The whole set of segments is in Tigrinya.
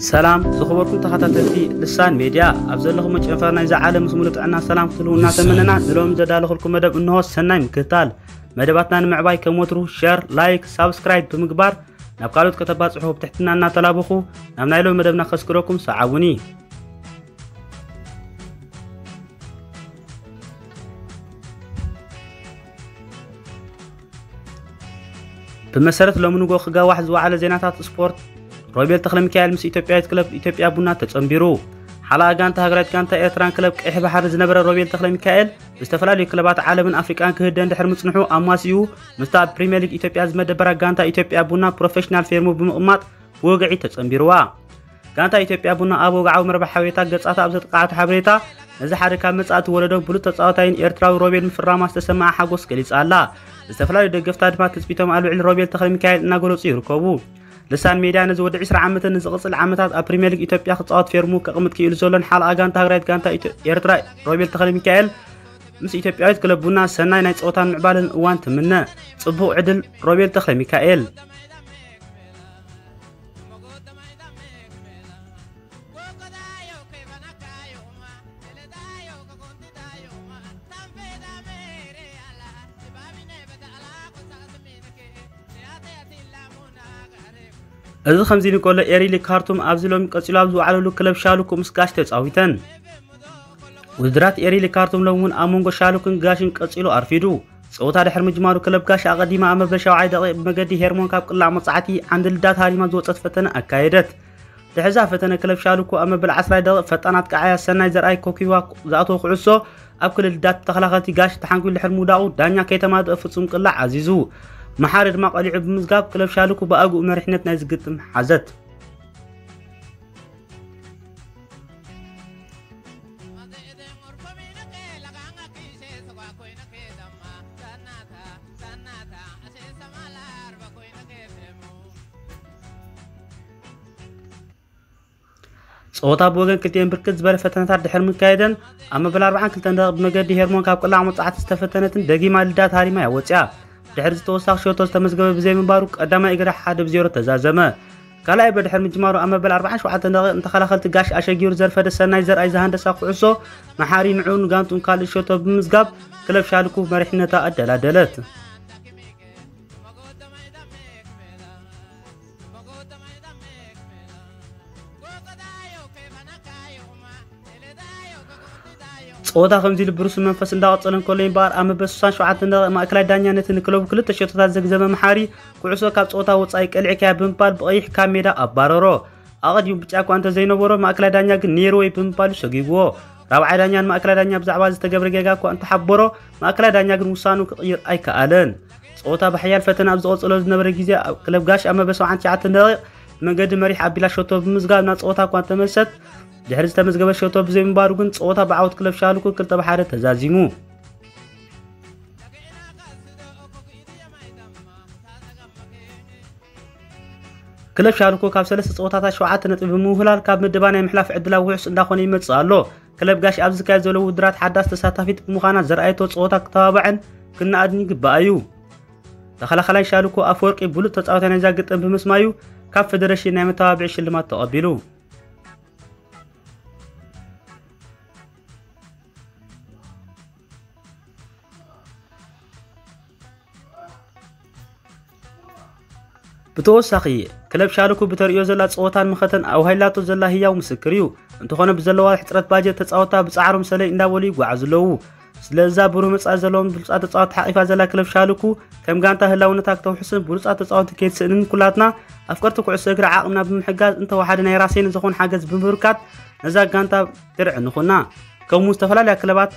ሰላም ዝኸበርኩም ተኸታተልቲ ልሳን ሜድያ፣ ኣብ ዘለኹም ጨንፈር ናይዛ ዓለም ምስ ሙሉ ጥዕና ሰላም ክትህልዉ እናተመነና፣ ንሎም ዘዳለኹልኩም መደብ እንሆ። ሰናይ ምክትታል። መደባትና ንምዕባይ ከም ወትሩ ሸር፣ ላይክ፣ ሳብስክራይብ ብምግባር ናብ ካልኦት ከተባጽሑ ብትሕትና እናተላበኹ፣ ናብ ናይ ሎም መደብና ከስግረኩም ሰዓቡኒ። ብመሰረት ሎሚ ንጎ ክጋዋሕ ዝወዓለ ዜናታት ስፖርት፣ ሮቤል ተኽለሚካኤል ምስ ኢትዮጵያዊት ክለብ ኢትዮጵያ ቡና ተጸንቢሩ። ሓለኣ ጋንታ ሃገራዊት ጋንታ ኤርትራን ክለብ ቀይሕ ባሕሪ ዝነበረ ሮቤል ተኽለሚካኤል፣ ብዝተፈላለዩ ክለባት ዓለምን ኣፍሪቃን ክህደን ድሕሪ ምጽንሑ፣ ኣማሲኡ ምስታ ኣብ ፕሪምየር ሊግ ኢትዮጵያ ዝመደበራ ጋንታ ኢትዮጵያ ቡና ፕሮፌሽናል ፌርሙ ብምቕማጥ ብወግዒ ተጸንቢርዋ። ጋንታ ኢትዮጵያ ቡና ኣብ ወግዓዊ መርበብ ሓበሬታ ገጻታ ኣብ ዘጥቃዓቶ ሓበሬታ፣ ነዚ ሓደ ካብ መጻእቲ ወለዶ ብሉጽ ተጻዋታይን ኤርትራዊ ሮቤል ምፍራማ ዝተሰምዓ ሓጎስ ገሊጻ ኣላ። ዝተፈላለዩ ደገፍታ ድማ ትጽቢቶም ኣብ ልዕሊ ሮቤል ተኽለሚካኤል እናገለጹ ይርከቡ። ልሳን ሜድያ ነዚ ወዲ ዕስራ ዓመትን ንዝቕጽል ዓመታት ኣብ ፕሪምየር ሊግ ኢትዮጵያ ክጻወት ፌርሙ ከቕምጥ ክኢሉ ዘሎን ሓለኣ ጋንታ ሃገራዊት ጋንታ ኢትዮ-፣ ኤርትራ ሮቤል ተኽለሚካኤል ምስ ኢትዮጵያዊት ክለብ ቡና ሰናይ ናይ ጸወታን ምዕባለን እዋን ትምነ። ጽቡቕ ዕድል ሮቤል ተኽለሚካኤል። እዚ ከምዚ ኢሉ እንከሎ፣ ኤሪሊ ካርቱም ኣብዚ ሎሚ ቀጺሉ ኣብ ዝወዓለሉ ክለብ ሻሉኩ ምስ ጋሽ ተጻዊተን። ውድድራት ኤሪሊ ካርቱም ሎሚ እውን ኣብ መንጎ ሻሉክን ጋሽን ቀጺሉ ኣርፊዱ። ጸወታ ድሕሪ ምጅማሩ ክለብ ጋሽ ኣቐዲማ ኣብ መበል ሻውዓይ ደቂቕ ብመገዲ ሄርሞን ካብ ቅላዕ መጻዕቲ ዓንዲ ልዳት ሃሪማ ዝወጸት ፈተነ ኣካየደት። ድሕሪ እዛ ፈተነ ክለብ ሻሉኩ ኣብ መበል ዓስራይ ደቂቕ ፈጣናት ቀዓያ ሰናይ ዘርኣይ ኮኪዋ ዝኣተወ ኩዕሶ ኣብ ክልል ልዳት ተኸላኸልቲ ጋሽ ተሓንኪሉ ድሕሪ ምውዳቑ ዳኛ ከይተማልአ ፍጹም ቅላዕ ኣዚዙ። መሓሪ ድማ ቀሊዑ ብምዝጋብ ክለብ ሻሉኩ ብኣግኡ መሪሕነት ናይዚ ግጥም ሓዘት። ጸወታ ብወገን ክልቲኤን ብርክት ዝበለ ፈተነታት ድሕሪ ምካየደን ኣብ መበል ኣርብዓን ክልተን ደቂቕ ብመገዲ ሄርሞን ካብ ቅላዕ መጻዕቲ ዝተፈተነትን ደጊማ ልዳት ሃሪማ እያ ወጺኣ። ድሕሪ ዝተወሳኺ ሸቶ ዝተመዝገበ ብዘይምንባሩ ቀዳማይ እግሪ ሓደ ብዜሮ ተዛዘመ። ካልኣይ ብድሕሪ ምጅማሩ ኣብ መበል ኣርብዓን ሸውዓተን ደቂቕ ንተኸላኸልቲ ጋሽ ኣሸጊሩ ዘርፈደ ሰናይ ዘርኣይ ዝሃንደሳ ኩዕሶ መሓሪ ንዕኡን ጋንቱን ካልእ ሸቶ ብምዝጋብ ክለብ ሻልኩ መሪሕነታ ኣደላደለት። ጸወታ ከምዚ ኢሉ ብሩስ መንፈስ እንዳቐጸለ እንከሎ እምበኣር ኣብ መበል ስሳን ሸውዓተን ደቂቕ ማእከላይ ዳኛ ነቲ ንክለቡ ክልተ ሸቶታት ዘግዘመ መሓሪ ኩዕሶ ካብ ጸወታ ወጻኢ ቀሊዕካያ ብምባል ብቐይሕ ካብ ሜዳ ኣባረሮ። ኣቐዲሙ ብጫ እኳ እንተዘይነበሮ ማእከላይ ዳኛ ግን ነይርወይ ብምባሉ ሰጒግዎ። ራብዓይ ዳኛ ንማእከላይ ዳኛ ብዛዕባ ዝተገብረ ጌጋ እኳ እንተሓበሮ ማእከላይ ዳኛ ግን ውሳኑ ክቕይር ኣይከኣለን። ጸወታ ብሓያል ፈተነ ኣብ ዝቐጸሎ ዝነበረ ግዜ ኣብ ክለብ ጋሽ ኣብ መበል ሰብዓን ትሽዓተን ደቂቕ ብመንገዲ መሪሕ ኣቢላ ሸቶ ብምዝጋብ ናብ ጸወታ እኳ እንተመልሰት ድሕሪ ዝተመዝገበ ሸቶ ብዘይምንባሩ ግን ጸወታ ብዓወት ክለብ ሻልኩ ክልተ ብሓደ ተዛዚሙ። ክለብ ሻልኮ ካብ ሰለስተ ጸወታታት ሸውዓተ ነጥቢ ብምውህላል ካብ ምድባ ናይ ምሕላፍ ዕድላ ውሑስ እንዳኾነ ይመጽእ ኣሎ። ክለብ ጋሽ ኣብ ዝካየድ ዘሎ ውድድራት ሓዳስ ተሳታፊት ብምዃና ዘርኣየቶ ጸወታ ክተባባዕን ክነኣድን ይግባእ እዩ። ተኸላኸላይ ሻልኮ ኣፈወርቂ ብሉጽ ተጻዋታይ ናይዛ ግጥም ብምስማዩ ካብ ፌደሬሽን ናይ መተባብዒ ሽልማት ተቐቢሉ። ብተወሳኺ ክለብ ሻልኩ ብተርእዮ ዘላ ጸወታን መኸተን ኣውሃይላቶ ዘላ ህያው ምስክር እዩ። እንተኾነ ብዘለዋ ሕጽረት ባጀት ተጻወታ ብጻዕሮም ሰለይ እንዳበሉ ይጓዓዙ ኣለዉ። ስለዛ ብሩህ መጻኢ ዘለዎም ብሉጻት ተጻወቲ ሓቒፋ ዘላ ክለብ ሻልኩ ከም ጋንታ ህላውነታ ክተውሕስን ብሉጻት ተጻወቲ ከይትስእንን ኩላትና ኣፍቀርቲ ኩዕሶ እግሪ ዓቕምና ብምሕጋዝ እንተወሓደ ናይ ራሴን ዝኾን ሓገዝ ብምብርካት ነዛ ጋንታ ድርዕ ንኹና። ከምኡ ዝተፈላለያ ክለባት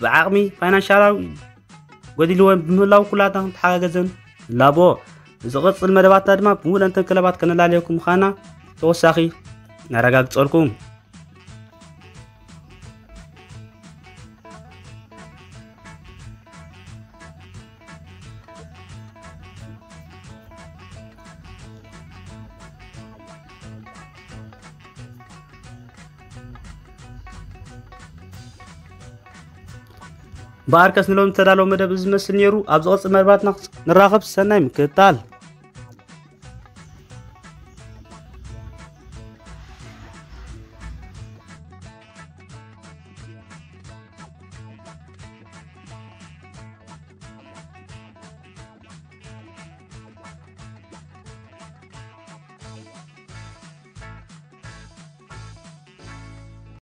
ብዓቕሚ ፋይናንሻላዊ ጎዲልወን ብምህላው ኩላትና ክንተሓጋገዘን ንላቦ። ንዝቕጽል መደባትና ድማ ብምሉእንተን ክለባት ከነላልየኩም ምዃና ተወሳኺ ነረጋግጸልኩም። በኣርከስ ንሎም ተዳለው መደብ ዝመስል ነይሩ። ኣብ ዝቐጽል መደባትና ንራኸብ። ሰናይ ምክትታል።